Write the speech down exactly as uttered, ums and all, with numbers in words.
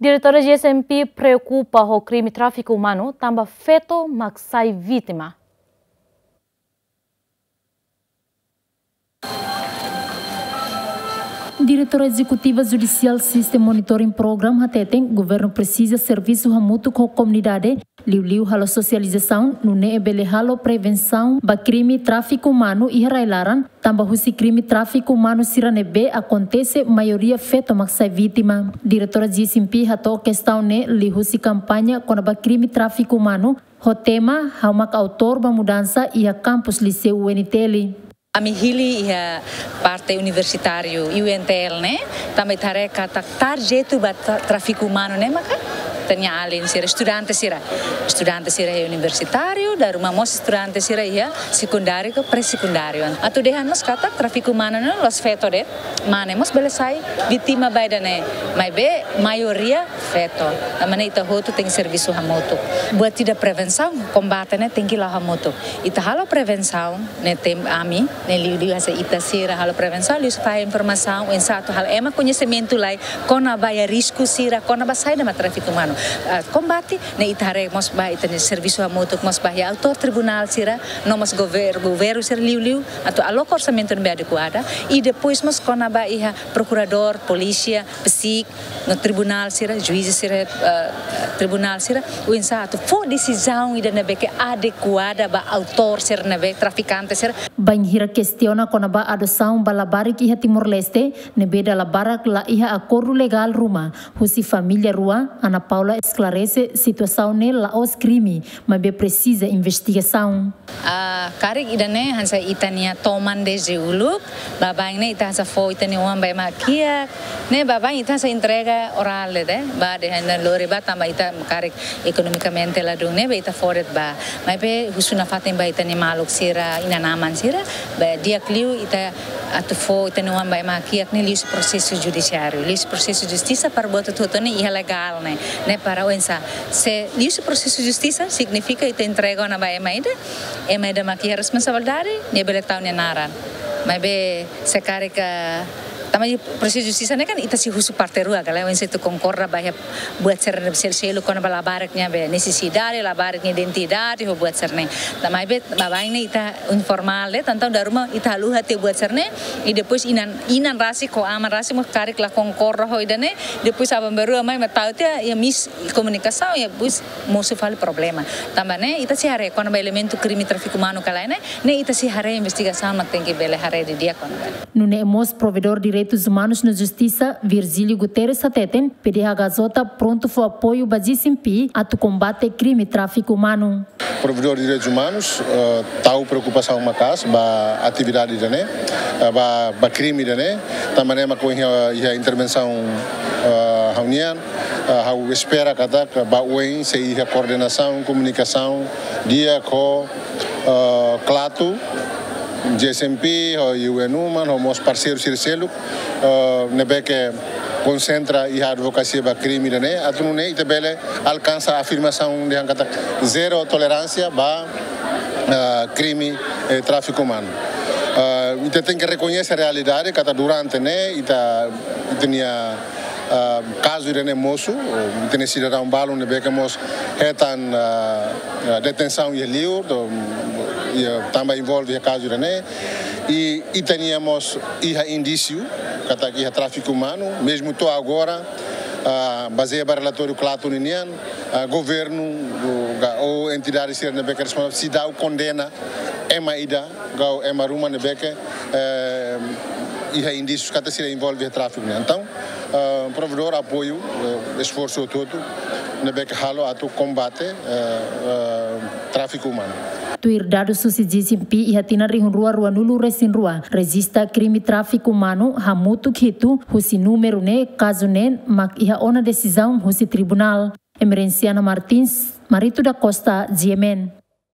Diretora G S M P preokupa ho krime tráfiku umanu, tanba feto mak sai vítima. Diretora Ezekutiva Judicial System Monitoring Program hateten, governu presiza servisu hamutuk ho komunidade, liuliu halo sosializasaun, nune'e bele halo prevensaun ba krime tráfiku umanu iha rai-laran, tanba husi krime tráfiku umanu sira ne'ebé akontese, maioria feto mak sai vítima. Diretora G S M P hato'o kestaun ne'e liuhusi kampaña kona-ba krime tráfiku umanu, ho tema Ha'u mak autór ba mudansa iha kampus Liseu U N T L. Ami hili iha parte universitáriu U N T L ne'e, tanba ita haree katak tarjetu ba tra-, tráfiku umanu ne'e maka ita-nia alin sira, estudante sira. Estudante sira iha universitáriu, dala ruma mós estudante sira iha sekundáriu ka pré-sekundáriu. Atu dehan mós katak tráfiku umanu ne'e la'ós feto de'it, mane mós bele sai vítima ba ida-ne'e, maibé maioria feto. Tanba ne'e ita hotu tenke servisu hamutuk. Buat ida prevensaun, kombate ne'e tenke la'o hamutuk. Ita halo prevensaun, ne'e tem ami, ne'e liuliu hanesan ita sira halo prevensaun, liuhusi fahe informasaun, oinsá atu halo ema koñesimentu lai kona-ba iha risku sira, kona-ba saida mak tráfiku umanu. Ah, kombate, ne'e ita haree mós ba ita-nia servisu hamutuk mós ba iha autór tribunál sira, no mós gover-, governu sira liuliu, atu aloka orsamentu ne'ebé adekuada, i depois mós kona-ba iha prokuradór, polísia, psík, no tribunál sira, juís sira, eh, tribunál sira, oinsá atu fó desizaun ida ne'ebé ke adekuada ba autór sira ne'ebé, trafikante sira. Bainhira kestiona kona-ba adosaun ba labarik iha Timor-Leste, ne'ebé dala barak la iha akordu legál ruma, husi família rua, Ana Paula esklarese situasaun ne'e la'ós krime, maibé presiza investigasaun. Ah, karik ida-ne'e hanesan ita-nia toman dezde uluk, baibain ne'e ita hanesan fó ita-nia oan ba ema kiak, ne'e baibain ita hanesan entrega orál de'it, ba dehan lori ba tanba ita karik ekonomikamente ladún ne'ebé ita fó de'it ba. Maibé husu nafatin ba ita-nia maluk sira, inan-aman sira, ba di'ak liu ita atu fó ita-nia oan ba ema kiak ne'e liuhusi prosesu judisiáriu, liuhusi prosesu justisa para buat hotu-hotu ne'e iha legál ne'e, ne'e para oinsá. Se liuhusi prosesu justisa signifika ita entrega ona ba ema ida, ema ida mak iha responsabilidade, nia bele tau nia naran. Maibé se karik, tanba prosesu justisa ne'e kan ita sei husu parte rua, ka lae, oinsá atu konkorda ba iha buat sira-ne'e sel-, seluk kona-ba labarik nia be nesesidade, labarik nia identidade, ho buat sira-ne'e. Tanba maibé baibain ne'e ita informál de'it, entaun dala ruma ita haluha tiha buat sira-ne'e, i depois inan, inan rasik ho aman rasik mós karik la konkorda ho ida-ne'e, depois aban-bainrua mai mak tau tiha, iha miskomunikasaun, iha depois mosu fali problema. Tanba ne'e ita sei haree kona-ba elementu krime tráfiku umanu ka lae ne'e, ne'e ita sei haree investigasaun mak tenke bele haree didi'ak kona-ba. Nune'e mós Provedór Direitus Umanus no Justisa, Virgílio Guterres hateten, P D H K J prontu fó apoiu ba G S M P atu kombate krime tráfiku umanu. Provedór Direitus Umanus, eh, tau preokupasaun maka'as ba atividade ida-ne'e, eh, ba, ba krime ida-ne'e, tanba ne'e mak ohin iha, iha intervensaun, eh, ha'u-nian, eh, ha'u espera katak ba oin sei iha koordenasaun, komunikasaun di'ak ho, eh, KLATU, G S M P, ho U N Women, ho mós parseiru sira seluk, eh, ne'ebé ke konsentra iha advokasia ba krime ida-ne'e, atu nune'e ita bele alkansa afirmasaun dehan katak zero toleránsia ba, eh, krime, eh, tráfiku umanu. Eh, ita tenke rekoñese realidade katak durante ne'e ita, ita-nia, ah, kazu ida-ne'e mosu, ita-nia sidadaun balun ne'ebé ke mós hetan, ah, ah, detensaun iha liur, to, iha, tanba envolve iha kazu ida-ne'e. I ita-nia mós iha indísiu katak iha tráfiku umanu, mezmu to'o agora, ah, bazeia ba relatóriu KLATU ninian, ah, governu, o, ka, ou entidade sira ne'ebé ke responsavel seidauk kondena ema ida, ka ema ruma ne'ebé ke, eh, iha indísius katak sira envolve iha tráfiku ne'e. Entaun, eh, Provedór apoiu, eh, esforsu hotu-hotu ne'ebé ke halo atu kombate, eh, eh, tráfiku umanu. Tuir dadus husi G S M P, iha tinan rihun rua ruanulu-resin-rua rejista krime tráfiku umanu hamutuk hitu, husi númeru ne'e kazu ne'e mak iha ona desizaun husi tribunál. Emerenciana Martins, Marito da Costa, G M N.